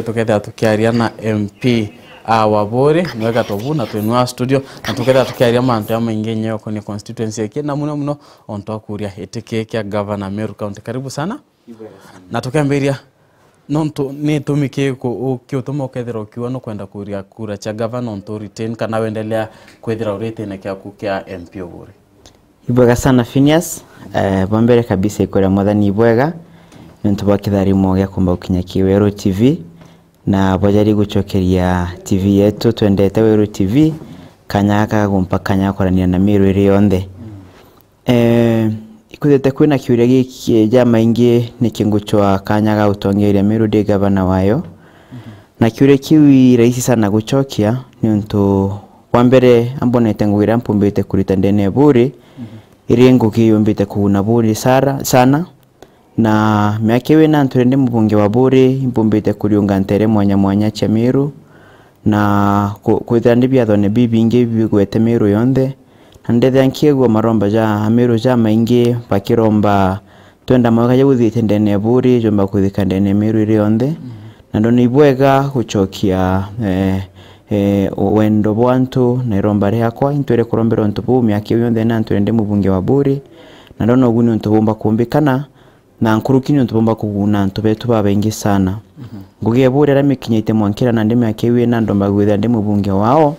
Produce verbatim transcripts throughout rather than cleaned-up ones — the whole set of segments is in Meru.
Tukethira tukiaria na M P a wa Buuri, nwega tobu na twinua studio, na tukethira tukiaria mantu jamaingi nyeyo kuni constituency iki, na muno muno ontu akuria iti ki kia gavana Meru County. Karibu sana. Na tukembiria, nontu ni itumi kiriku kiutuma ukethira ukiuga nukwenda kuria kura cia gavana ontu retain kana wendelea kwithira uritine kiaku kia M P o Buuri? Ibwega sana Phineas. Eh, bwa mbere kabisa ikwira Mwathani ibwega niuntu bwa kitharimo gia kumba gukinya ki Weru T V, na bwajari gucokeria T V yetu twendete Weru T V kanya gaka gagumpa kanya ga kwaraniria na Meru iri yonthe. Eh, ikwithite kwina kiuria giki jamaingi niki ngucwa kanya ga utongeria Meru ndi gavana wayo. Na kiuria kiu i rahisi sana gucokia, niuntu bwa mbere ambonete ngugi iria mpumbite kurita ndene ya Buuri, iri ngugi yumbite kuguna Buuri sara, sana. Na miaka iu ina nture ndi mubunge wa Buuri, impumbite kuriunga ntere mwanya mwanya cia Meru, na ku-, kwithira ndi biathone bibingi bigwete Meru yonthe, na ndethia nkiigua maromba ja Ameru jamaingi bakiromba twenda mwaka jau uthiite ndene ya Buuri, jomba kuthika ndene ya Meru iri yonthe. Na ndona ibwega gucokia, eh, eh, wendo bwa antu na iromba riakwa, intwire kurombera untu buu miaka iu yonthe na ntwire ndi mubunge wa Buuri, na ndona ugu ni untu bumba kumbikana, na nkuruki ni untu bumba kuguna antu betu babaingi sana. Ngugi ya Buuri aria mikinyite mwankira na ndi miaka iu ina ndomba kwithira ndi mubunge wao.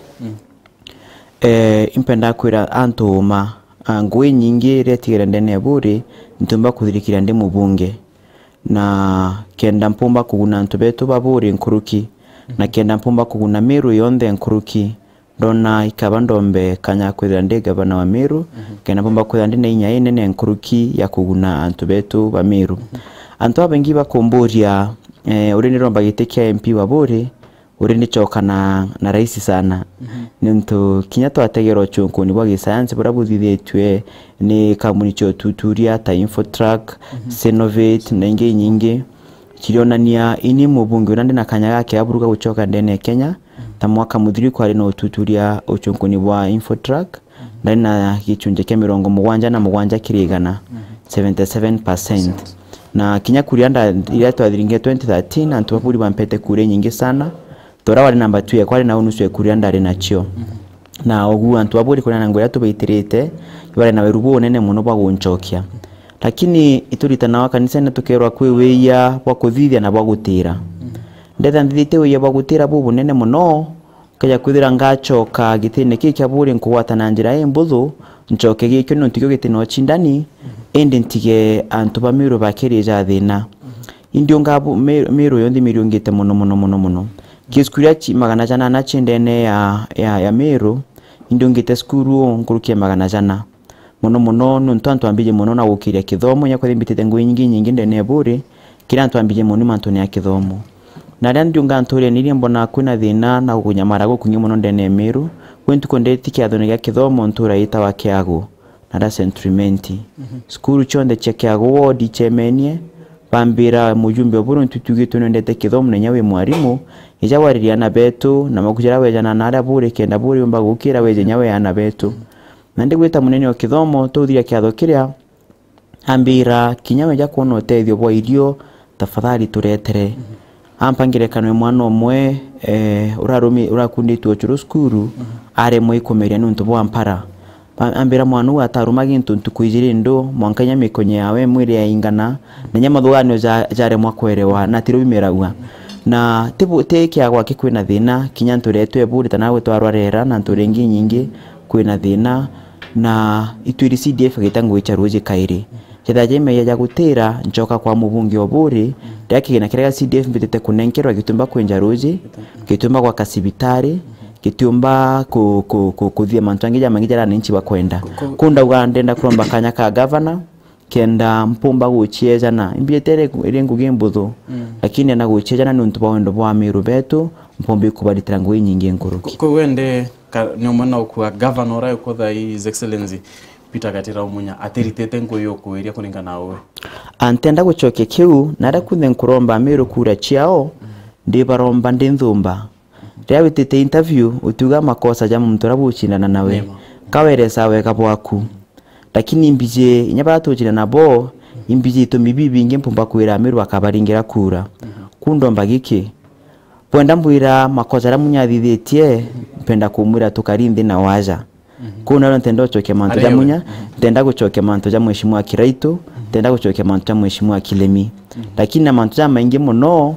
Eh, impendaa kwira antu uma, ah, ngugi inyingi iria itigere ndene ya Buuri, ntiumba kuthirikiria ndi mubunge. Na kenda mpumba kuguna antu betu ba Buuri nkuruki, na kenda mpumba kuguna Meru yonthe nkuruki, ndona ikaba ndombe kanya kwithira ndi gavana wa Meru, kenda mpumba kwithira ndi na inya inene nkuruki ya kuguna antu betu ba Meru. Antu babaingi bakumburia, eh, uria niromba giti kia M P wa Buuri, uri nicoka na, na rahisi sana. Niuntu kinya twategera ucunkuni bwa gisayansi buria buthithitue ni kambuni cia ututuria ta Infotrak, Senovate na ingi inyingi, cirionania ini mubunge uria ndi na kanya gake aburuka gucoka ndene ya Kenya, ta mwaka muthiru kwari na ututuria ucunkuni bwa Infotrak, ndari na gicunji kia mirongo mugwanja na mugwanja kiri igana, seventy seven percent. Na kinya kuria nda-, iria twathiringe twenty thirteen, antu ba Buuri bampete kura inyingi sana. Tora wari namba two yakwa ari nau nusu ya kuria ndari nacio. Na ugu antu ba Buuri kuria na ngugi iria tubaitirite, ibari na weru bunene muno bwa guncokia. Lakini ituritanawa kanisene tukerwa kwi wiia bwa kuthithia na bwa gutira. Ndetha nthithite wiia bwa gutira bubunene muno, Nkeja kwithira ngacoka gitine kii kia Buuri nkugwata na njira imbuthu, ncoke gikio niuntu kio giti na ucindani, indi ntige antu ba Meru bakirija thina. Indi unga bu-, Me-, Meru yonthe imiriungite mono, mono, mono, mono. Ki cukuru iria ci-, magana jana na ci ndene ya, ya, ya Meru, indi ungite cukuru nkuruki ya magana jana. Mono mono niuntu antu ambiji mono na gukiria kithomo, inya kwithira mbitite ngugi inyingi inyingi ndene ya Buuri, kiri antu ambiji mono mantune ya kithomo. Na riria ndiunga ntuurene iria mbonaa kwina thina na gunyamara gukwingi mono ndene ya Meru, kwi ntuku ndeti kiathone gia kithomo ntuura yitawa Kiagu, na ra Saint Clement. Cukuru cionthe cia Kiagu ward icemenie, bambira mujumbe o Buuri niuntu tugitwe nwendete kithomo na inya wi mwarimu, ija waririe aana betu, na makuja aria wejana na aria Buuri kenda Buuri yumba gukira weje inya we aana betu. Na ndigwita munene o kithomo, tuthiria kiatho kiria, ambira, kinya weja kwona utethio bwa irio, tafadhali turetere. Ampa ngerekano ya mwana umwe, eh, urarumi-, urakunditwe ucuru cukuru, aremwe ikumeria niuntu bwa mpara. Ba-, ambira mwana uu ataruma gintu ntuku ijiri ndu, mwanka inya mikonye yawe mwiri yaingana, na inya mathuganio ja-, jaremwa kwerewa, na tirio bimeragua. Na ti bu-, ti kiagwa ki kwina thina, kinya nturetwe Buuri, ta nawe twarwa Rera, na nture ingi inyingi kwina thina, na itwiri C D F igita ngugi cia ruuji kairi. Jethira ja imeya ja gutira, ncoka kwa mubunge o Buuri, riria kigina kiria gia C D F mbitite kunenkerwa gitiumba kwinja ruuji, gitiumba gwaka cibitari, gitiumba ku-, ku-, ku-, kuthithia mantu jangi jamaingi jaria ananchi bakwenda. Ku- Ku ndauga ndenda kuromba kanya ka gavana, kenda mpumba guciejana. Imbijite iri, iri ngugi mbuthu, lakini na guciejana niuntu bwa wendo bwa Amiru betu, mpumbi kubaritira ngugi inyingi nkuruki. Ku-, ku wende ka-, ni umwe na ukua gavana uria ukutha His Excellency Peter Gatira Umunya atiritite ngugi ukwiria kuringana na uwe? A, ntenda gucokia kiu, na aria kunthe nkuromba Amiru kura ciao, ndibaromba ndi nthumba. Riria witite interview, utiuga makosa ja muntu uria bucindana nawe. Ni ma. Kaweresa wega bwaku. Lakini imbiji, inya baria tucindana nabo, imbiji itumi bibingi mpumba kwira Amiru akabaringira kura. Ku ndomba giki, Bwenda mbwira makosa jaria Munya athithitie, mpenda kumwira tukari nthi na waja. Mhm. Kuu nario ntenda gucokia mantu ja Munya, mhm, ntenda gucokia mantu ja Mheshimiwa Kiraitu, mhm, ntenda gucokia mantu ja Mheshimiwa Kilemi. Mhm. Lakini na mantu jamaingi mono,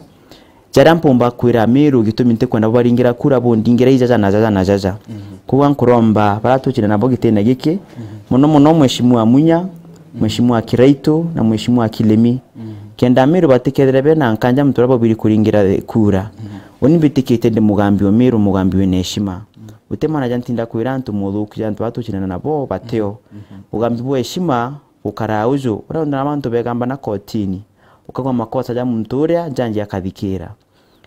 jaria mpumba kwira Amiru gitumi ntikwenda bubaringira kura bundingira ijaja na jaja na jaja. Mhm. Koguo nkuromba baria tucine nabo gitine giki, mhm, mono mono Mheshimiwa Munya, mhm, Mheshimiwa Kiraitu na Mheshimiwa Kilemi. Mhm. Kenda Amiru batikethire bena nkanja muntu uria babwiri kuringira kura. Mhm. Uni mbitikitie ndi mugambi wa Miru, mugambi wina heshima. Mhm. Uti mwana ja ntinda kwira antu muthuku ja antu baria tucinana nabo batio. Mhm. Ugambi bwa heshima bukaraa uju, uria uthana bantu begamba na kotini, ukagwa makosa ja muntu uria njanji akathikira.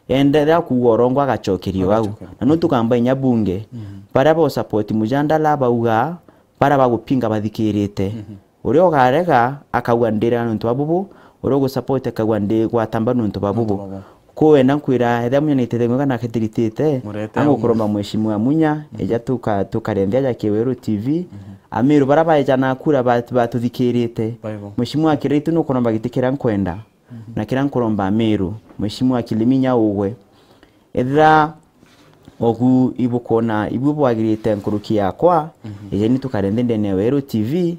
Enderea kuuga urongwa agacokeria au. Agacokeria. Na nu tukamba inya bunge, mhm, baria ba support mujandala bauga, baria bagupinga bathikirite. Mhm. Uria ugarega akauga ndira nontu bwa bubu, uria ugusupport akauga ndi gwatamba nontu bwa bubu. Nontu bwa bubu. Kwou wenda nkwira, ethira Munya naitite ngugi kana akethiritite, murete angu au kuromba Mheshimiwa Munya, mhm, eja tuka-, tukarenthia ja Kiweru T V. Mhm. Amiru baria baeja na kura bat-, batuthikirite. Baibo. Mheshimiwa Kiraitu nukuromba giti kiria nkwenda. Mhm. Na kiria nkuromba Amiru, Mheshimiwa Kilemi nya ugwe. Ethira ogu ibukwona ibui bwagirite nkuruki yakwa, mhm, ejeni tukare nthi ndene ya Weru T V,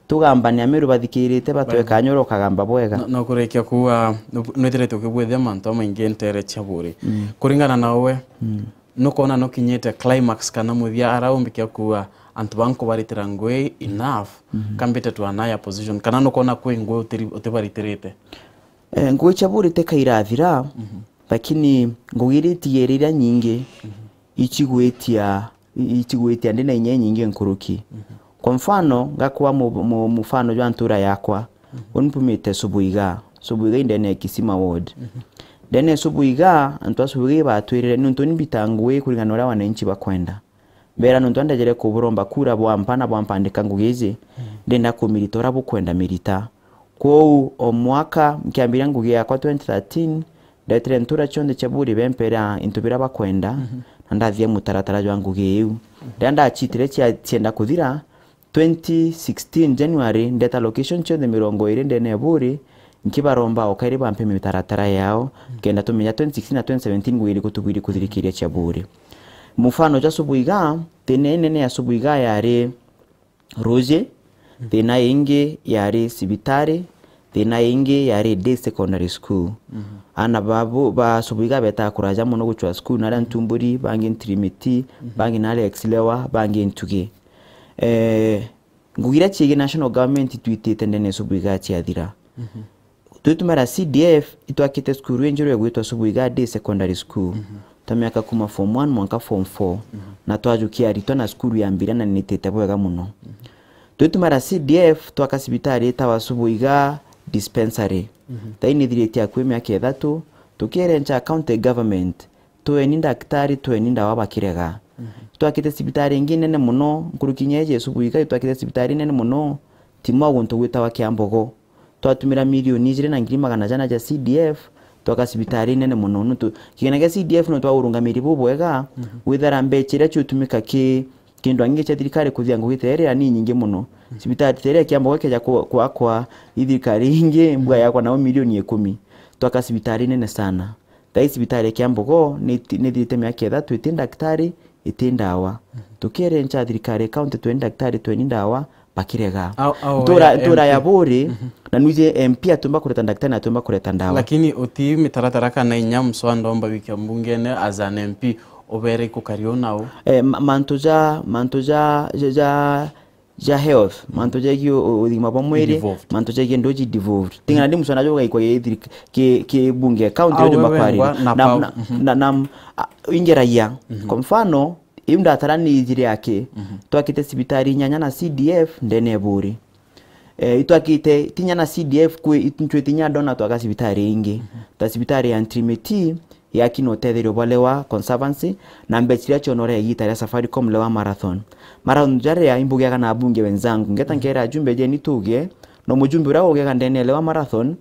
tugambane Amiru bathikirite batwe kanyoro kagamba bwega. No, no kurikia kuuga, nu-, nwithirite ukibwithia mantu jamaingi ntere cia buri. Mm. Kuringana na uwe, mm, nukwona nukinyite climax kana muthia ara umbikia kuuga antu ba nkubaritira ngui enough, mhm, kambite to an higher position, kana nukwona kwi ngui utiri-, utibaritirite? Eh, ngui cia buri tikairathira, mhm, lakini ngugi iria itigere iria nyingi, mhm, icigwitia, i-, icigwitia ndi na inya inyingi nkuruki. Mhm. Kwa mfano, ngakwa mu-, mu-, mufano jwa ntura yakwa, mhm, uni mpumite Subuiga. Subuiga i ndene ya Kisima Ward. Mhm. Ndene ya Subuiga, antu a Subuiga ibatwirire, niuntu ni mbita ngui kuringana na uria wananchi bakwenda. Mbera nontu andejere kuburomba kura bwampa na bwampandika ngugi iji, mm, ndenda kumirita uria bukwenda mirita. Kwou o mwaka nkiambiria ngugi yakwa twenty thirteen, ndetire ntura cionthe cia buri bempera into biria bakwenda, mhm, na ndathithia mutaratara jwa ngugi iu. Mhm. Riria ndacitire cia-, cienda kuthira, twenty sixteen January, ndeta location cionthe mirongo iri ndene ya buri, nkibaromba o kairi bampe mitaratara yao, mm, kenda tumenya twenty sixteen na twenty seventeen ngugi iriku tubwiri kuthirikiria cia buri. Mufano jwa Subuiga, thina inene ya Subuiga yari ruji, mm, thina ingi yari cibitari, thina ingi yari day secondary school. Mhm. Ana babu, ba Subuiga betaga kuraja mono gucwa school, naria Ntumburi, bangi Ntirimiti, mhm, bangi naria Exilewa, bangi Ntugi. Eh, Ngugi iria ciigi national government itwitite ndene ya Subuiga ciathira. Mhm. Twitumira C D F itwakite cukuru injeru igwitwa Subuiga Day Secondary School. Mhm. Twa miaka kuma form one mwanka form four. Mhm. Na twajukia aritwa na cukuru yambire na nitite bwega mono. Mhm. Twitumira C D F twaka cibitari itawa Subuiga Dispensary. Mhm. Thaini ithiritie akui miaka ithatu, tukiere ncha county government, tweni ndaktari, tweni ndawa bakirega. Mhm. Twakite cibitari ingi nene mono, nkuruki inya iji Subuiga itwakite cibitari nene mono, Timwa guntu gwitawa Kiambogo. Twatumira milioni ijiri na ngiri magana jana ja C D F, twaka cibitari nene mono. Nuntu kigina gia C D F no twa urungamiri bubwega, mhm, gwithara mbecha iria ciutumika ki kindu angi cia thirikari kuthia ngugi ta iria ni nyingi mono. Mhm. Cibitari ta iria Kiambogo ikeja ku-, kwakwa i thirikari ingi, mbua yakwa nao milioni ikumi. Twaka cibitari nene sana. Thaa ii cibitari ya Kiambogo ni iti-, ni ithirite miaka ithatu iti ndaktari, iti ndawa. Mhm. Tukiere ncha thirikari ya county tweni ndaktari, tweni ndawa, bakirega. Au, au, ntura, eh, ntura ya M P. Buri, mhm, na nwiji M P atumba kureta ndaktari na atumba kureta ndawa. Lakini uti mitaratara kana inya mswada omba wikia mbungene as an M P, ubere ikukari u nau? Eh, ma-, mantu ja, mantu ja, ja, ja ja health, mantu jegie u-, ugima bwa mwiri, devolved, mantu jegie nduji devolved. Ting'ana ndi musana jo gaikwa ki thiri-, ki, ki bunge, county. Au jo we makwari. Wengwa na Na, pau. Na, mhm, na, na, a, ingeragia. Mhm. Kwa mfano, iu ndatara ni ijiri yake, mhm, twakite cibitari inyanya na C D F ndene ya Buri. Eh, itwakite tinya na C D F kwi, it-, ntwite inya ndona twaka cibitari ingi. Mhm. Ta cibitari ya Ntirimiti, yaki na utetherio bwa Lewa Conservancy, na mbecha iria cionore igita ria Safaricom Lewa Marathon. Marathon jaria imbugiaga na abunge wenzangu, ngeta nkera ajumbe jeni tuge, no mujumbe uria ugiaga ndene ya Lewa Marathon,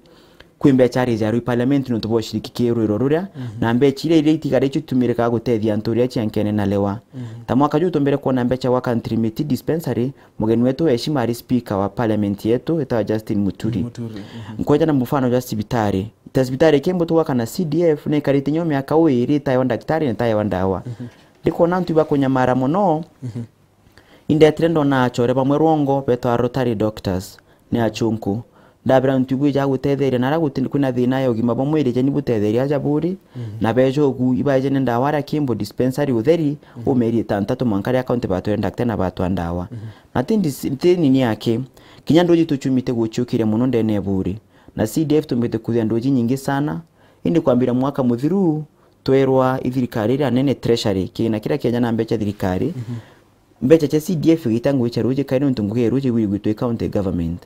kwi mbecha ari jarwi parliament nontu bwa ushiriki ki rwiro ruria, mhm, na mbecha iria, iria itigara icio itumirikaga gutethia antu uria ciankene na Lewa. Mhm. Ta mwaka juu tumbere kuona mbecha gwaka Ntirimiti dispensary, mugeni wetu wa heshima ari speaker wa parliament yetu, etawa Justin Muturi. Muturi, mhm. Nkweja na mufano jwa cibitari, Ta cibitari Kimbu tugwaka na C D F, na ikarite nyo miaka uiri itaewa ndagitari na itaewa ndawa. Ndikona antu ibakunyamara mono, indetire ndona achore bamwe Rwongo betwa Rotary Doctors, ni achunku. Ndabira antu ibwija gutetheria, na aria guti-, kwina thina ya ugima bwa mwiri, jeni butetheria aja buri, na beja ugu ibaeje ni ndawa aria Kimbu dispensary utheri, umeri itantatu mwanka ria county batwire ndagitari na batwa ndawa. Na ti ndis-, ti nini aki, kinya nduji tuchumite guchiukiria mono ndene ya buri. Na C D F tumbite kuthia nduji nyingi sana, indi kwambira mwaka muthiru, twerwa i thirikari iria nene treasury, kigina kiria kienja na mbecha thirikari, mbecha cia C D F igita ngugi cia ruji kairi nontu ngugi ya ruji wiri gwitwa i county government.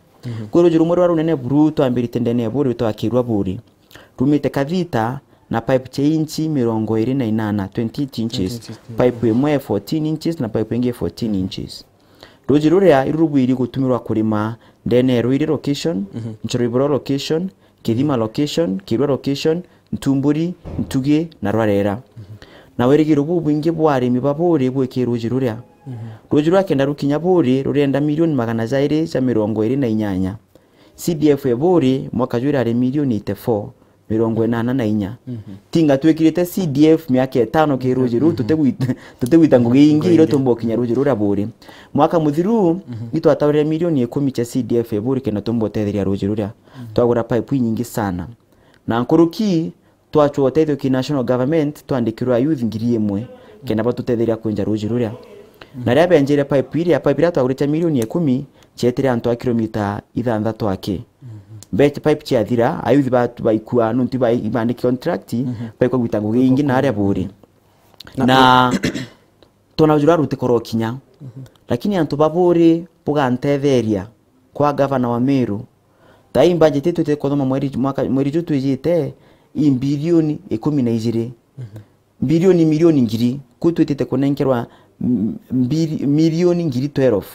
Kwi ruji rumwe rwa runene buru twambirite ndene ya buri rwitwa Kirwa Buri. Rumite Kathita na pipe cia inchi mirongo iri na inana, twenty-eight inches. Pipe imwe fourteen inches na pipe ingi fourteen inches. Ruji ruria iru rubwiri gutumirwa kurima ndene ya Ruiri location, Nchoriburo location, Kithima location, Kirwa location, Ntumburi, Ntugi na Rwarera. Na wirigiro bubwingi bwa arimi ba buri bwiki ruji ruria. Ruji rwa kenda rukinya buri rurenda milioni magana jairi ja mirongo iri na inyanya. C D F e buri mwaka jwira ari milioni eighty-four, mirongo inana na inya. Tinga twikirite C D F miaka itano ki ruji ruu, tutigwita, tutigwita ngugi ingi iria tumba ukinya ruji ruria buri. Mwaka muthiru, itwataurire milioni ikumi cia C D F e buri kenda tumba utetheria ruji ruria. Twagura pipe inyingi sana. Na nkuruki, twachwa utethio ki national government, twandikirwa youth ngiri imwe, kenda batutetheria kwinja ruji ruria. Na riria benjire pipe iria, pipe iria twagurite milioni ikumi, cietire antu a kilomita ithanthatu aki. Mbe-, pipe ciathira, ayuthi ba-, baikua, nontu ba-, ibandiki contract, baikwa gwita ngugi ingi na aria buri. Na Na twona ruji rwa rutikorwo kinya. Lakini antu ba buri bugantetheria kwa gavana wa Meru. Tai budget itwite kuthoma mweri, mwaka, mweri ju twijite, i bilioni ikumi na ijiri. Bilioni, milioni ngiri, ku twitite kunenkerwa m-, mbiri-, milioni ngiri twelve.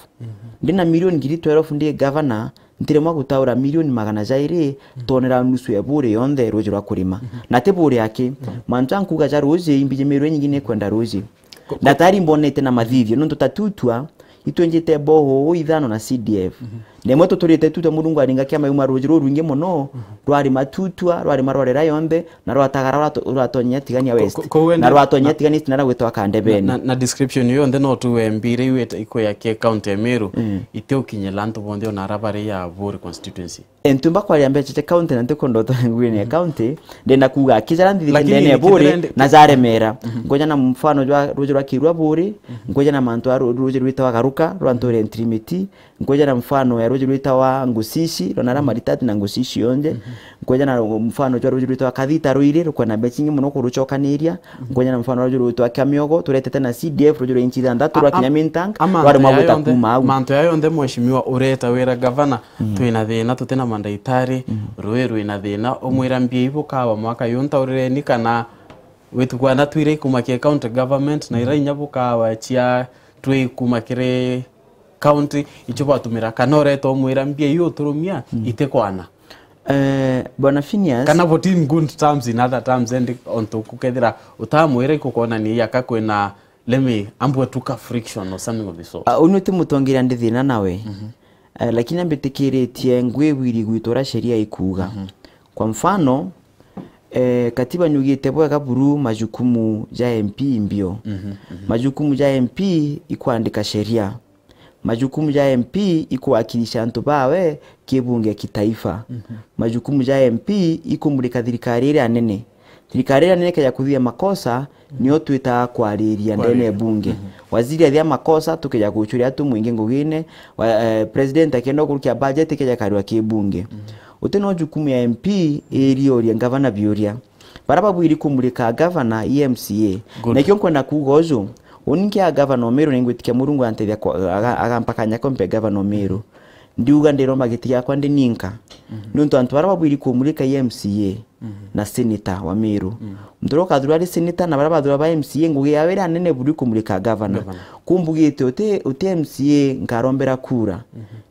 Ndina milioni ngiri twelve ndi gavana, ntiremwa gutaura milioni magana jairi, tonera nusu ya buri yonthe ruji rwa kurima. Na ti buri aki, mantu ankuga ja ruji, imbiji Meru inyingi ni kwenda ruji. Na tayari mbonete na mathithio, nontu ta Tutua, itwenjite boho ithano na C D F. Na imwe tuturite Tutua, Murungu aringa kiama yuma ruji rurwingi mono, rwari Matutua, rwari Marorera yonthe, na rwatagara rwato-, rwatonyia Tigania West. Ko-, ko-, koguo na ndi-, rwatonyia na, Tigania East na rwagwitwa Kandebeni. Na, na description iyo yonthe no tu wembire iwe ita-, ikwe ya ke county ya Meru, itiukinyira antu bonthe ona ara bari ya Buri constituency. Entu mbakwaria mbecha cia county na ntikwenda utware nguine ya county, ndenda kuuga aki jara nthithite ndene ya Buri na jaremera. Nkoja na mfano jwa ruji rwa Kirwa Buri, nkoja na mantu a ru-, ruji rwitawa Garuka, rwa nture Ntirimiti, nkoja na mfano ya ruji rwitawa Ngusishi, rwa nara Maritati na Ngusishi yonje, nkoja na mfano jwa ruji rwitawa Kathita Ruiri, rukwenda mbecha ingi mono kuruchokaniria, nkoja na mfano rwa ruji rwitawa Kamiogo, turetete na C D F, ruji rwa inchi ithanthatu, rwa kinya Mintang, rwari mwa gwita kuma au. Mantu ya yonthe, mheshimiwa, ureta wira gavana, twina thina, tutina mandagitari, rui rwina thina, umwira mbia ibu kawa mwaka yu, ntaurireni kana witukwana twire ikuma kia county government, na ira inya bukawa cia twi kuma kiri county, icho batumira, kana ureta umwira mbia iu uturumia, itikwana. Eh, Bwana Phineas. Kana but in good terms, in other terms, and ontu kukethira utamwira ikukwonania yaka kwina let me, ambwe tuka friction or something of the sort. Ah, unu ti mutongeria ndi thina nawe. Eh, lakini ambitikiritie ngwibwiri gwitu uria sheria ikuuga. Kwa mfano, eh, katiba niugite bwega buru majukumu ja M P mbio. Majukumu ja M P ikwandika sheria. Majukumu ja M P ikuwakilisha antu bawe kibunge kitaifa. Majukumu ja M P ikumulika thirikari iria nene. Thirikari iria nene ikeja kuthithia makosa, nio twitaga kwariria ndene ya bunge. Waziri athia makosa, tukeja guchuria tu mwingi ngugine, wa, eh, president akenda gukurukia budget, ikeja karua ki bunge. Uti no jukumu ya M P irioria ngavana biuria. Bara babwiri kumulika gavana i M C A. Good. Nakio nkwenda kuuga uju, uni nkia gavana o Meru, ningwitikia Murungu antethia kwa, aga-, agampakanya kompe gavana o Meru. Ndiuga ndiromba giti giakwa ndi ninka. Niuntu antu bara babwiri kumulika i M C A na senator wa Meru. Muntu uria ukathurwa ari senator na bara bathurwa ba M C A, ngugi yao iria nene buru kumulika gavana. Kumbugite uti, uti M C A nkarombera kura.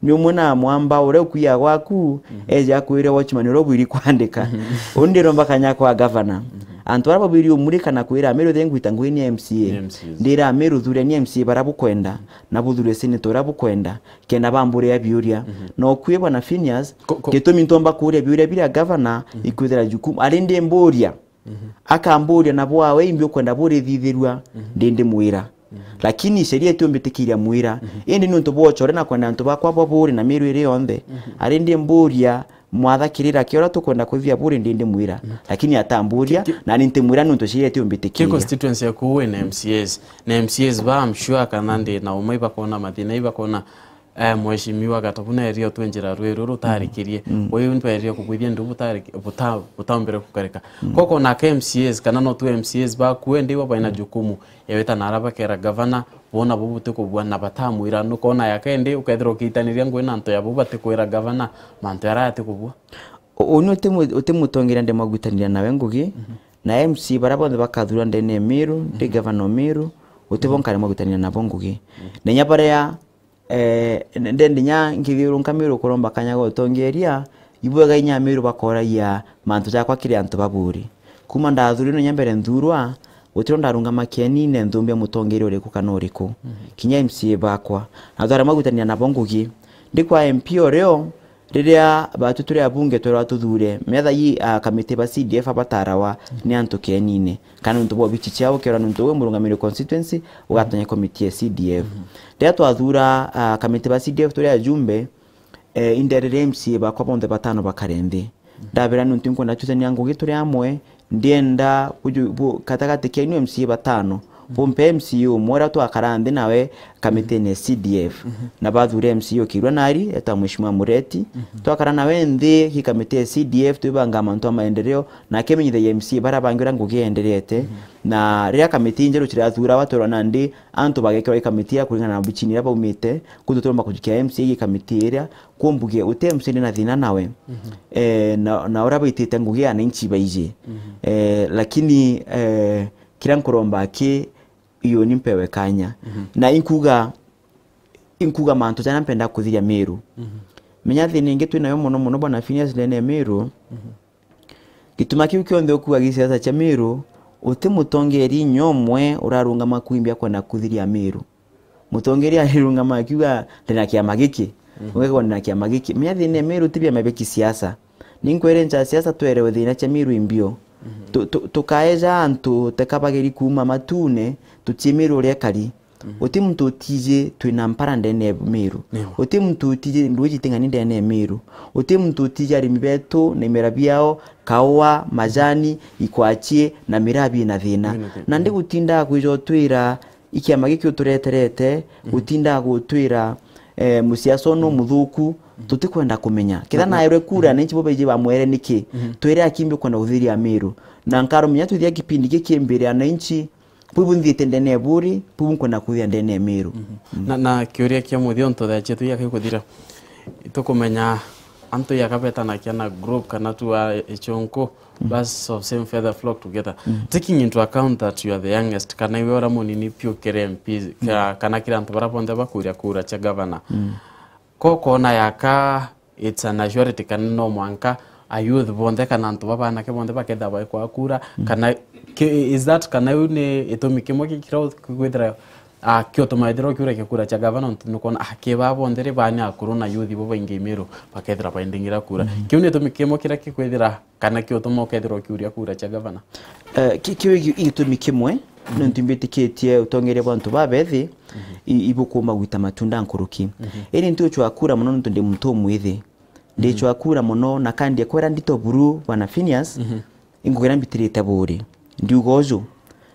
Ni umwe na mwamba uria ukuiya gwaku, eja akwire watchman uria ubwiri kwandika. Uni ndiromba kanya kwa gavana. Antu baria babwiri umurika na kwira Amiru, the ngwita ngugi ni M C A. Ni M C As. Ndira Amiru, thureni M C A baria bukwenda, na buthure senator uria bukwenda, kenda bamburia biuria. Mhm. Na ukui bwana Phineas, ko-, ko- gitumi ntomba kuria biuria biria gavana, mhm, ikwithira jukumu. Ari ndimburia, mhm, akamburia nabo awe imbi ukwenda burithithirua, mhm, ndi ndimwira. Mhm. Lakini sheria itiumbitikiria mwira. Mhm. Indi niuntu bwa uchore na kwenda antu bakwa bwa buri na Miru iri yonthe, mhm, ari ndimburia, mwatha kirira kia uria tukwenda kuthithia buri ndi ndimwira. Mhm. Lakini atamburia, ki-, ki-, nani ntimwira niuntu sheria ki itiumbitikiria. Constituency yaku wina M C As? Na M C As ba, I'm sure kana ndi na umwe ibakona mathina, ibakona, eh, mheshimiwa Gatobu na erio twenjira rwiru rutarikirie. Mm. Uyu ntwererie kubwithia ndu butari-, buta-, butaumbire gukarika. Mm. Koko nake M C As, kana no tu M C As baku endi ibo baina jukumu ya wita na ara bakera gavana, bona bo butikubua na batamwira, nukona yake endi ukethirwa ukiitaniria ngugi na antu yabo batikwira gavana mantu yara atikubua. U-, uni utimu-, utimutongeria ndimagwitaniria nawe ngugi, mhm, na M C A baria bonthe bakathurwa ndene ya Miru, ndi, mhm, gavana o Miru, utibo, mhm, nkare magwitaniria nabo ngugi. Mhm. Na inya baria, eh, n-, ndendi inya nkithiurunka Miru kuromba kanya ga utongeria, ibwega inya Miru bakoragia mantu jakwa kiri antu baburi. Kuma ndathurirwe inya mbere nthurwa, gutiro ndarungama kienine nthumbia mutongeria uriku kana uriku. Mhm. Kinya M C A bakwa. Na tware magwitaniria nabo ngugi. Ndi kwa M P o rio, riria batu turi abunge twerwa tuthure, metha yi, ah, kamiti ba C D F abatarawa ni antu kienine. Kana nuntu bwa obici ciao, ukerwa nuntu wi murungamiri constituency, ugatonye komiti ya C D F. Mhm. Riria twathura, ah, kamiti ba C D F turi ajumbe, eh, inderere M C A bakwa bonthe batano bakare nthi. Mhm. Ndabera nuntu nkwenda tutania ngugi turi amwe, ndienda buju-, bu-, gatagati kenu M C A batano, bumpe M C A umwe uria twakara nthi nawe kamitine ya C D F. Mhm. Na bathure M C A ukirwa nari, eta Mheshimiwa Mureti. Mhm. Twakara nawe nthi ki kamiti ya C D F, twibanga mantu a maendeleo, na akimenyithagia M C A baria bangi uria ngugi yenderete. Mhm. Na riria kamiti injeru cirathurawa, twerwa nandi antu bagekirwa i kamiti iria kuringana na buchini iria baumite, kuntu turomba kujukia M C A i kamiti iria, kumbuge uti M C A ndi na thina nawe. Mhm. Eh, na, na uria baitite ngugi ananchi baiji. Mhm. Eh, lakini, eh, kiria nkuromba aki, iyo ni mpewe kanya. Mhm. Na inkuga, inkuga mantu jaria mpenda kuthiria Miru. Mhm. Menya thina ingi twinayo muno muno, bwana Phineas, ndene ya Miru. Mhm. Gituma kiu kionthe ukuga gi siasa cia Miru, uti mutongeria inya umwe urarungama kwimbia kwenda kuthiria Miru. Mutongeria arirungama akiuga, "Ndina kiama giki." Mhm. Ugekwa, "Ndina kiama giki." Menya thina ya Miru ti biama bia kisiasa. Ninkwere ncha siasa twerewe thina cia Miru imbio. Mhm. Tu-, tu-, tukaeja antu teka bageri kuuma matune, tutie Miru uria ekari. Mhm. Uti muntu utiji twina mpara ndene ya Miru. Niwe. Uti muntu utiji ndwiji ting'ani ndene ya Miru. Uti muntu utiji arimi betu na imera biao, kaua, majani, ikwachie, na miraa bina thina. Bina thina. Na ndi gutinda kwija utwira, ikiama giki utureterete, mhm, gutinda gutwira, eh, musiasa unu, mhm, muthuku, mhm, tutikwenda kumenya. Ketha na, na, naerwe kura, mhm, ananchi bo baiji bamwere niki? Mhm. Twire akimbi kwenda kuthiria Miru. Na nkarumenya twithia kipindi giki mbere ananchi, buu bunthiite ndene ya buri, buu nkwenda kuthia ndene ya Miru. Mhm. Mm. Na, na kiuria kia muthia untu thaa cietu igakikuthira, itukumenya antu iakabetanakia na group kana tu a ichunku, mm, birds of same feather flock together. Mm. Taking into account that you are the youngest, kana iwe uria munini piu kiri M P, ka-, mm, kana kiri antu baria bonthe bakuria kura cia gavana. Mm. Ko kona yaka it's an assurity kana no mwanka a youth bonthe kana antu baba anake bonthe bakethira baikwa kura, mm, kana ki-, is that kana iu ni itumi kimwe ki-, kiria kwithira, ah, kiutuma ethirwa kiura kia kura cia gavana, ntu nukona, ah, ki baa bonthe ri baa ni akuru na youth bo baingi Miru bakethira baindingira kura. Mm. Kiu ni itumi kimwe kiria kikwithira kana kiutuma ukethirwa ukiuria kura cia gavana? Eh, ki-, kiu gi-, gitumi kimwe, mhm, nontu mbitikitie utongeria bwa antu babethi, mhm, i-, ibukumba gwita matunda nkuruki. Mhm. Indi ntiuchwa kura mono nontu ndi muntu umwithi. Ndichwa kura mono na kandi ekwera ndito buru, bwana Phineas, mhm, ingugira mbitirite buri. Ndiuga uju.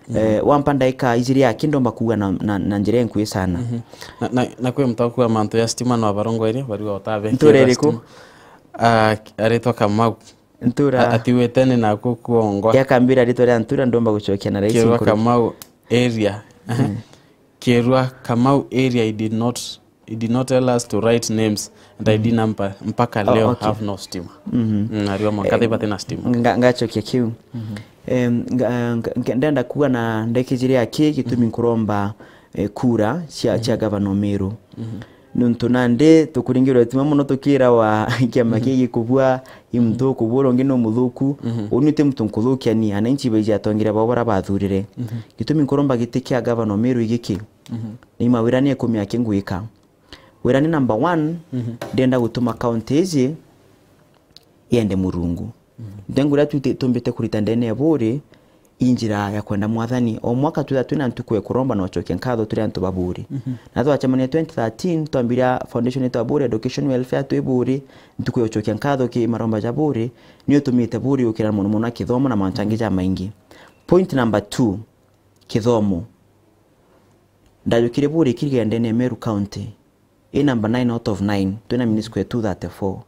Mhm. Eh, wampa ndaika ijiri aki ndomba kuuga na, na, na njira enkui sana. Mhm. Na, na, na kwi muntu akuga mantu ya stima no abarongoerie, bariuga utabe. Ntura iriku? Stima. Ah, aritwa Kamau. Ntura. A-, atiwite ni naku kuongwa. Yakambira ritwa ria ntura, ndomba gucokia na raisi. Kirwa nkuru. Kamau area. Mm. Kirwa Kamau area, he did not, he did not tell us to write names and I D, mm, number. Mpaka, oh, leo, okay, have no stima. Mhm. Mm, ariwa mwanka, eh, thibati na stima. Nga-, ngacokia kiu. Mhm. Em, nga-, nga-, nga-, ndenda kuga na ndekijire aki gitumi, mhm, nkuromba, eh, kura cia, mhm, cia gavana o Miru. Mhm. Nontu nandi tukuringirwe tima mono tukirawa kiama, mhm, kii gikubua I muthuku, bura ungi ni umuthuku, uni ti muntu nkuthukia ni, ananchi baiji atongeria bao bara bathurire. Gitumi nkuromba giti kia gavana o Meru igiki, ni mawira ni ikumi aki ngwika. Wira ni number one, ndenda gutuma county iji yende Murungu. Nthengo iria tu-, tumbite kurita ndene ya buri, i njira ya kwenda Mwathani. O mwaka twitha twina ntuku ya kuromba na ucokia nkatho turi antu ba buri. Na twacemania twenty thirteen, twambiria foundation yetu ya buri, education welfare twi buri, ntuku ya ucokia nkatho ki maromba ja buri, ni utumite buri ukira mono mono na kithomo na mantu angi ja maingi. Point number two, kithomo. Ndajukire buri kirigenda ndene ya Meru County. I number nine out of nine, twina minisco ya two thirty-four.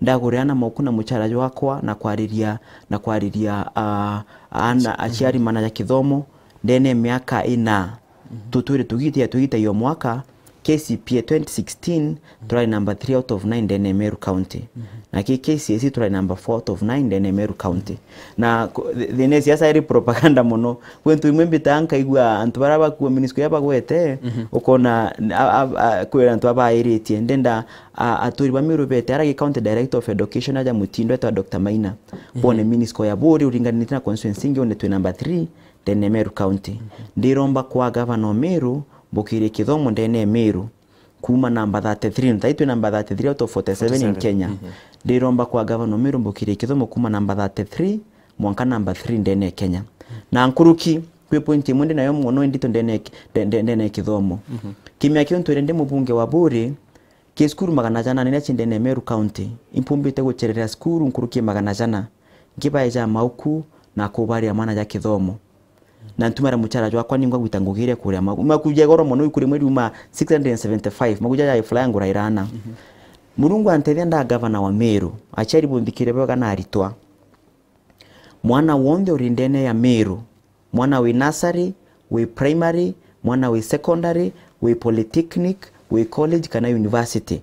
Ndagurira ana mauku na muchara jwakwa na kwariria, na kwariria, ah, ana aciari mana ja kithomo ndene ya miaka ina. Tutwire tugite, tugite yo mwaka, K C P A twenty sixteen, turari number three out of nine ndene ya Meru County. Na ki K C S E turari number four out of nine ndene ya Meru County. Na ku-, thi-, thina ya siasa iri propaganda mono. Kwi ntu imwe mbitaa nkaigua antu baria bakua minisco ya bagwete, ukona a, a, a, kwira antu abairitie. Ndenda a, aturi ba Meru bete, ara gi county director of education aja mutindo etwa Doctor Maina. Bone minisco ya buri uringanite na constituency ingi, one twi number three, ndene ya Meru County. Ndiromba kwa gavana o Meru, mbukirie kithomo ndene ya Meru. Kuma number thirty-three, nthai twi number thirty-three out of forty-seven in Kenya. Ndiromba kwa gavana o Meru mbukirie kithomo kuma number thirty-three mwanka number three ndene ya Kenya. Na nkuruki, kwi point imwe ndi nayo mono indito ndene ya ki-, nde-, nde-, ndene ya kithomo. Kimya kiu ntwire ndi mubunge wa buri, ki cukuru magana jana niria ci ndene ya Meru County, impumbite gucerera cukuru nkuruki ya magana jana, nkibaeja mauku na kubaria mana ja kithomo. Na ntumara muchara jwakwa ningwa gwita ngugi iria kuria magu-, makuja igoro mono, ikuri mweri uma six hundred and seventy-five, makuja ja ifula ya ngura irana. Murungu antethia nda gavana wa Meru, aciari bunthikire bwega na aritwa. Mwana wonthe uri ndene ya Meru, mwana wi nursery, wi primary, mwana wi secondary, wi polytechnic, wi college kana university.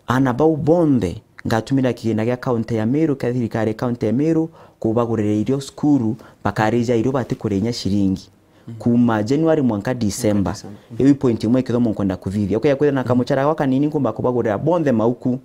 Ana bau bonthe ngatumira kigina gia kaunti ya Meru, kia thirikari ya kaunti ya Meru, kubagurira irio cukuru, bakarija irio batikurinya ciringi. Kuma January mwanka December. Iu i point imwe kithomo nkwenda kuthithia. Ukeya kwithira na kamuchara gwa kanini nkumba kubagurira bonthe mauku,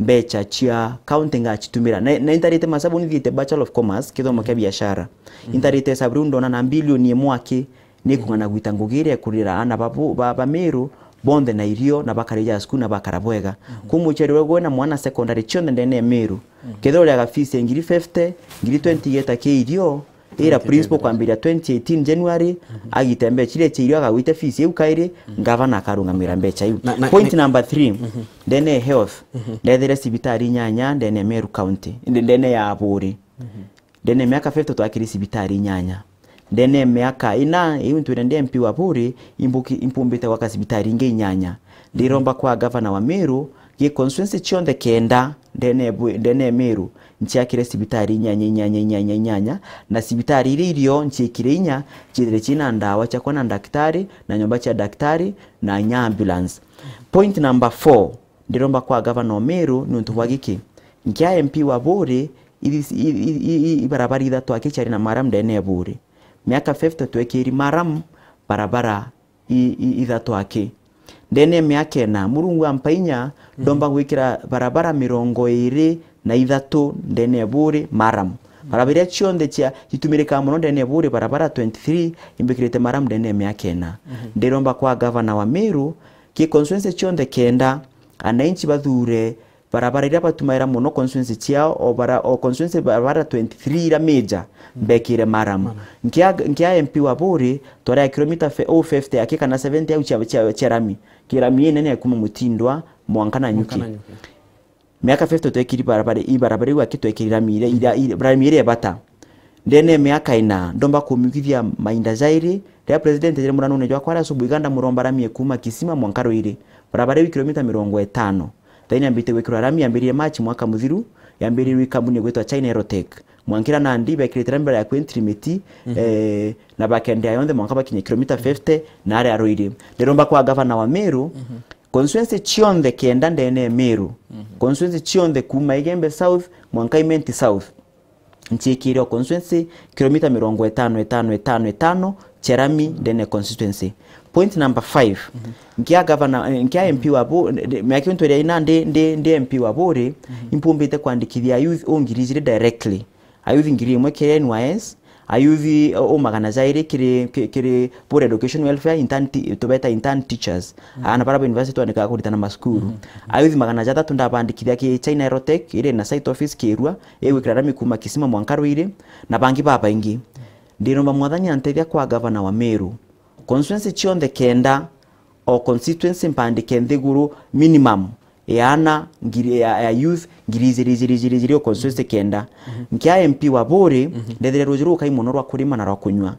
mbecha cia kaunti ngachitumira. Na, na intarite masabu nithiite Bachelor of Commerce, kithomo kia biashara. Intarite hesabu riu ndona na bilioni imwe aki, nikung'ana gwita ngugi iria ikurira ana ba, ba, ba Meru bonthe na irio na bakarija cukuru na bakara bwega. Kwi muciari uria gwina mwana secondary cionthe ndene ya Meru, kethira uriaga fees ya ngiri fifty, ngiri twenty igeta ki irio, ira principal kwambiria twenty eighteen January, agite mbecha iria cia irio agagwite fees iu kairi, gavana akarungamira mbecha iu. Na, na, point number three, ndene ya health, ndethire cibitari inyanya ndene ya Meru County, nde-, ndene ya Aburi. Ndene ya miaka fifty twakiri cibitari inyanya. Ndene ya miaka ina, iu ntwire ndi M P wa Buri, imbuki-, impumbite gwaka cibitari ingi inyanya. Ndiromba kwa gavana wa Meru, gi constituency cionthe kenda, ndene ya Bu-, ndene ya Meru, nciakire cibitari inyanya, inyanya, inyanya, inyanya, na cibitari iria irio nciikire inya, ciithire ciina ndawa cia kuona ndaktari, na nyomba cia daktari, na inya ambulance. Point number four, ndiromba kwa gavana o Meru niuntu bwa giki. Nkia M P wa Buri, ithi-, i-, i-, i-, i-, ibarabara ithatu aki ciari na maram ndene ya Buri. Miaka fifty twekiri maram barabara i-, i-, ithatu aki. Ndene ya miaka ina, Murungu ampa inya, ndomba gwikira barabara mirongo iri na ithatu ndene ya Buri maram. Barabara iria cionthe cia, citumirikaa mono ndene ya Buri, barabara twenty-three, imbikirite maram ndene ya miaka ina. Ndiromba kwa gavana wa Meru, ki constituency cionthe kenda, ananchi bathure barabara iria batumaira mono constituency ciao, o bara-, o constituency barabara twenty-three iria major, mbekire maram. Nkia, nkia M P wa Buri, twari a kilomita fe-, o fifty aki kana seventy au cia, cia, cia rami. Ki rami inene ya kuma Mutindwa, mwanka Nanyuki. Miaka fifty twekiri barabara, i barabara iu aki twekiri rami iria, iria, i rami iria ebata. Ndene ya miaka ina, ndomba kumiukithia mainda jairi, riria president ejire muranone jwakwa aria asubuhi iganda muromba rami ekuma Kisima mwanka Ruiri. Barabara iu kilomita mirongo itano. Thaini yambite gwikirwa rami, yambiririe March mwaka muthiru, yambiririe i kambuni igwitwa China Aerotech. Mwankira nandi bekirite rami bara ya kwentry miti, eh, na bakendea yonthe mwanka bakinye kilomita fifty, na aria Ruiri. Ndiromba kwa gavana wa Meru, constituency cionthe kenda ndene ya Meru, constituency cionthe kuma Igembe South mwanka Imenti South, nciikire o constituency kilomita mirongo itano, itano, itano, itano, cia rami ndene constituency. Point number five, nkia governor, eh, nkia M P wa Bo-, miaka ntwere ina ndi, ndi, ndi M P wa Buri, impumbite kwandikithia youth o ngiri ijiri directly. Ayuthi ngiri imwe kiri N Y S, ayuthi o, o magana jairi kiri, ki-, kiri Buri Education Welfare, intern ti-, tubeta intern teachers. Ana bara ba university twandikaga kuritana masukuru. Ayuthi magana jathatu ndabandikithia ki China Aerotech, iri na site office Kirua, igwikira rami kuma Kisima mwanka Ruiri, na bangi babaingi. Ndiromba Mwathani antethia kwa gavana wa Meru. Constituency cionthe kenda, o constituency mpandike nthiguru minimum ya ana ngiri, ya, ya youth ngiri ijiri, ijiri, ijiri, ijiri, o constituency kenda. Nkia M P wa Buri, ndethire ruji rukai mono rwa kurima na rwa kunyua.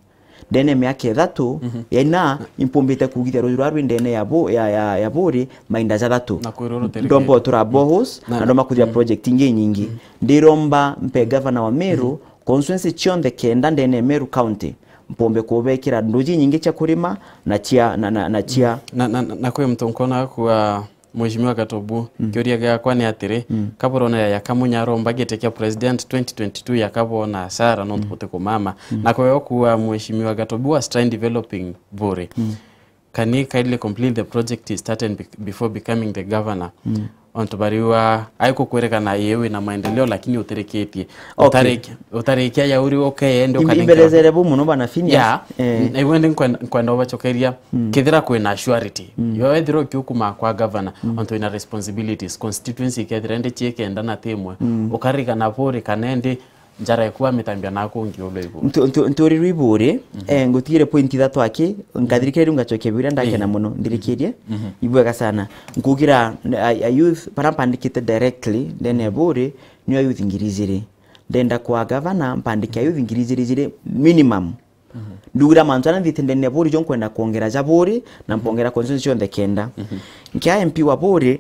Ndene miaka ithatu, ya ina, impumbite kugithia ruji rwa rwi ndene ya Bo-, ya, ya, ya Buri, mainda jathatu. Na kwi ruru terikiri. Ndomba utura boreholes, na ndoma kuthia project ingi nyingi. Ndiromba mpe gavana wa Meru, constituency cionthe kenda ndene ya Meru County, mpombe kubekira nduji nyingi cia kurima na cia, na, na, na cia. Na, na, na kwi muntu nkona kuwa Mheshimiwa Gatobu, kiuria giakwa ni atiri, kaburona ya Kamunya aromba giti kia president twenty twenty-two ya kabona asara nontu buti kumama. Na kwe okuwa Mheshimiwa Gatobu was trying developing Buri. Can he kindly complete the project he started bec-, before becoming the governor? Ontu bariwa aikukwirikana ii wina maendeleo lakini utirikitie. Okay. Utariki-, utarikia ya uri ukeende. Im-, ukarikia imbelezere bu muno bana Phineas. Yeah. Eh. Na iwe ndi nkwenda, nkwenda ubacokeria, kethira kwina surety. Yo ethira ukiukuma kwa governor, ontu wina responsibilities, constituency ikethira ndi ciikenda na timwe. Ukarikana Buri kana ndi njara ikua mitambia naku ngiulu iguru. Ntu-, ntu-, nturi rwi Buri, eh, ngutigire point ithatu aki, nkathirikira riu ngacokia biuria ndakena muno, nthirikirie. Ibwega sana. Nkugira, a, a youth, bara mpandikite directly, ndene ya Buri, ni a youth ngiri ijiri. Ndenda kwa gavana, mpandike a youth ngiri ijiri ijiri minimum. Ndugira mantu aria nthite ndene ya Buri, jo nkwenda kwongera ja Buri, na mpongera constituency cionthe kenda. Nkia M P wa Buri,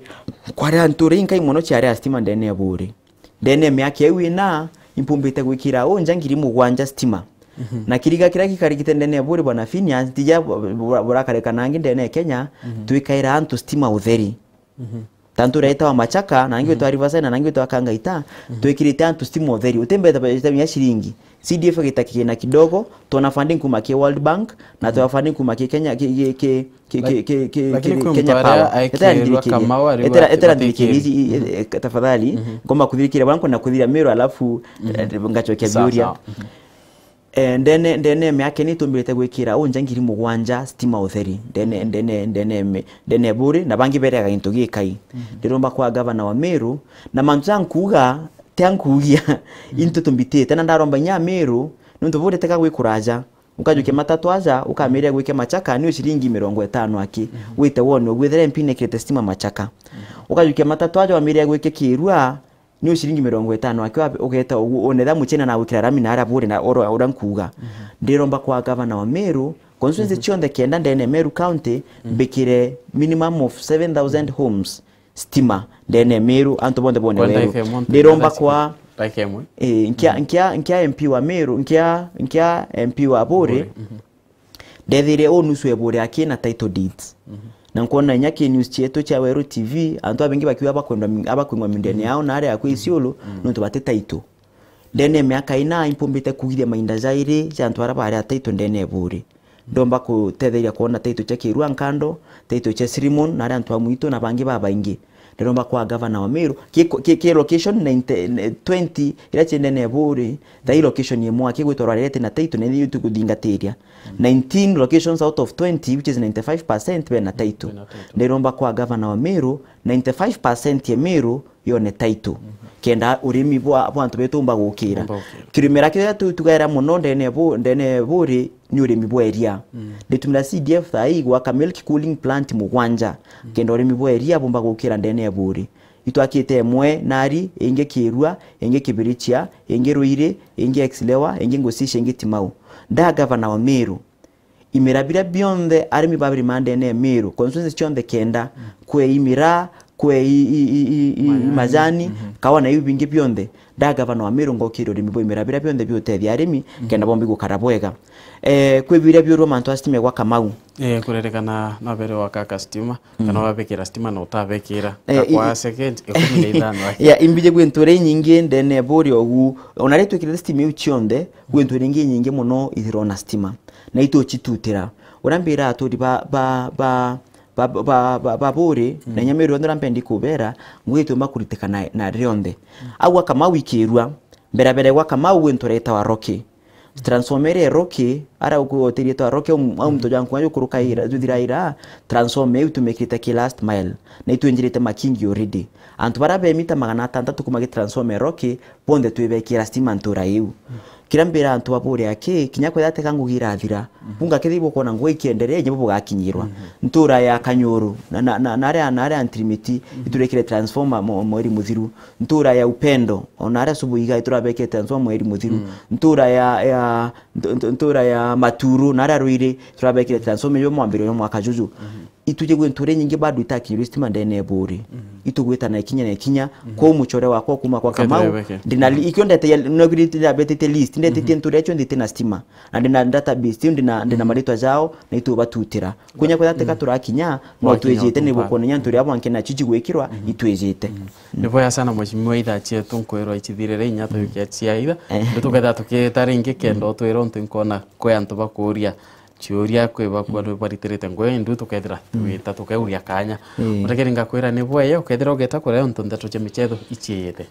kwari antu uri inkai mono ciari a stima ndene ya Buri. Ndene ya miaka iu ina, impumbite gwikira unja ngiri mugwanja stima. Na kiriga kiria gikarikite ndene ya Buri bwana Phineas, tija bu-, bu-, burakarika nangi ndene ya Kenya, twikaira antu stima utheri. Tantu uria itawa Machaka, na nangi itawa Riverside, na nangi itawa Kangaita, twikirite antu stima utheri. Utimbeta bajeta ya ciringi. C D F igita kigina kidogo, twona funding kuma ki World Bank, na twona funding kuma ki Kenya, ki, ki, ki, ki, ki, ki, ki, lakini kwi Kenya Power. Etera nthirikiri. Etera, etera nthirikiri, tafadhali. Ngomba kuthirikira, bwana, kwenda kuthira Meru, alafu, eh, ngacokia biuria. Eh, ndene, ndene miaka ni tumbirite gwikira unja ngiri mugwanja stima utheri. Ndene, ndene, ndene me-, ndene Buri, na bangi bereaga gintu gikai. Ndiromba kwa gavana wa Meru, na mantu ja nkuuga, tia nkuugia, into tumbitite, na ndaromba inya Meru, nontu Buri teka gwikuraja. Ukajukia matatu aja, ukamiria gwike Machaka, ni ciringi mirongo itano aki. Wite wone, gwithira M P nekirite stima Machaka. Ukajukia matatu aja, wamiria gwike Kirua, ni ciringi mirongo itano aki, ugeta uguo, unetha muchina na gwikira rami na aria Buri na ura, ura nkuuga. Ndiromba kwa gavana wa Meru, constituency cionthe kenda ndene Meru County, mbikire minimum of seven thousand homes. Stima, ndene Meru, antu bonthe bone weru. Ndiromba kwa, eh, nkia, nkia, nkia M P wa Meru, nkia, nkia M P wa Buri, ndethire u nusu e Buri aki na title deeds. Na nkwona inya ki news cietu cia Weru T V, antu abengi bakiuga abakwendwa mi-, abakwingwa mindene yao na aria akwi Isiolo, nontu bati title. Ndene ya miaka ina, impumbite kugithia mainda jairi ja antu aria bari a title ndene ya Buri. Ndomba kutetheria kwona title cia Kirua Nkando, title cia Sirimon, na aria antu a mwitu na bangi babaingi. Ndiromba kwa gavana wa Meru, ki, ki, ki location ninety, twenty, iria cie ndene ya Buri, thaa ii location imwe aki gwitwa Rwarerete na title, na ithui tukuthingatiria. Nineteen locations out of twenty, which is ninety-five percent, bena title. Bena title. Ndiromba kwa gavana wa Meru, ninety-five percent ya Meru, yone title. Kenda urimi bwa, bwa antu betu umba gukira. Umba gukira. Kirimira kiria tu-, tugaira muno ndene bu-, ndene Buri ni urimi bwa iria. Nditumira C D F thaa ii gwaka milk cooling plant mugwanja. Kenda urimi bwa iria bumba gukira ndene ya Buri. Itwakite imwe Nari, ingi Kirua, ingi Kibirichia, ingi Ruiri, ingi Exilewa, ingi Ngucicia, ingi Timau. Nda gavana wa Meru, imira biria bionthe arimi babirima ndene ya Meru, constituency cionthe kenda, kwe imira, kwe i, i, i, i, i, majani, kawa na iu bingi bionthe. Nda gavana wa Meru ngokire urimi bwa imera biria bionthe biutethia arimi, kenda bombi gukara bwega. Eh, kwi biria biurua mantu a stima gwa Kamau. Eh, kuririkana no bere wakaka stima, kana wabekira stima na utabekira. Eh, i, kwa i, second ikumi na ithano aki. Ya, imbije gwi ntura inyingi ndene buri ogu. Ona ri twikirite stima iu cionthe, gwi ntura ingi inyingi muno ithirona stima. Na itucitutira. Uria mbira aturi ba, ba, ba, ba, ba, ba, ba buri, na inya Meru yonthe uria mpendi kubera, ngugi itiumba kuritikana na, na rionthe. Au gwa Kamau ikirua, mbere mbere gwa Kamau gwi ntura itawa Rocky. Transformer iria Rocky, ara uku otirie twa Rocky, au, au muntu jankunya jukuruka ira, juthira ira, transformer iu tumikirite ki last mile. Na itwinjirite makingi already. Antu bara be mita magana atantatu kuma ki transformer Rocky, bonthe twibekira stima ntura iu. Kiria mbira antu ba buri aki, kinya kwethira teka ngugi irathira, bunga kethi bukwona ngugi ikienderea, inya bo bugakinyirwa. Ntura ya Kanyuru, na, na, na, na aria, na aria Ntirimiti, iturekire transformer mo-, mweri muthiru. Ntura ya Upendo, ona aria Subuiga, iturabekire transformer mweri muthiru. Ntura ya, ya, ntu-, ntu-, ntura ya Maturu, na aria Ruiri, iturabekire transformer yo mwambiriro yo mwaka juju. Ituje gwi ntura inyingi bado itakinyirwe stima ndene ya buri. Itugwita na ikinya na ikinya, kwou mucore wakwa kuma kwa Kamau, ndina li-, ikio ndete ya, no biri ndabetete list, ndetete ntura icio ndite na stima. Na ndina database, tiu ndina, ndina maritwa jao, na itubatutira. Kunya kwetha teka turakinya, no twijite ni bukwona nyantu ria bwanke na chichi gwikirwa, itwijite. Ni bwega sana mheshimiwa, ithaa cietu nkwirwa ichithirire inya tuyukia cia itha. Ndu tuketha tukita ringi kenda utwira untu nkona kwi antu bakuria ciuria kwi bakua ni baritirite ngugi, ndu tukethira twita tukeuria kanya. Mutegeri ngakwira ni bwega, ukethira ugeta kuria untu ndeto cia michetho ichiite.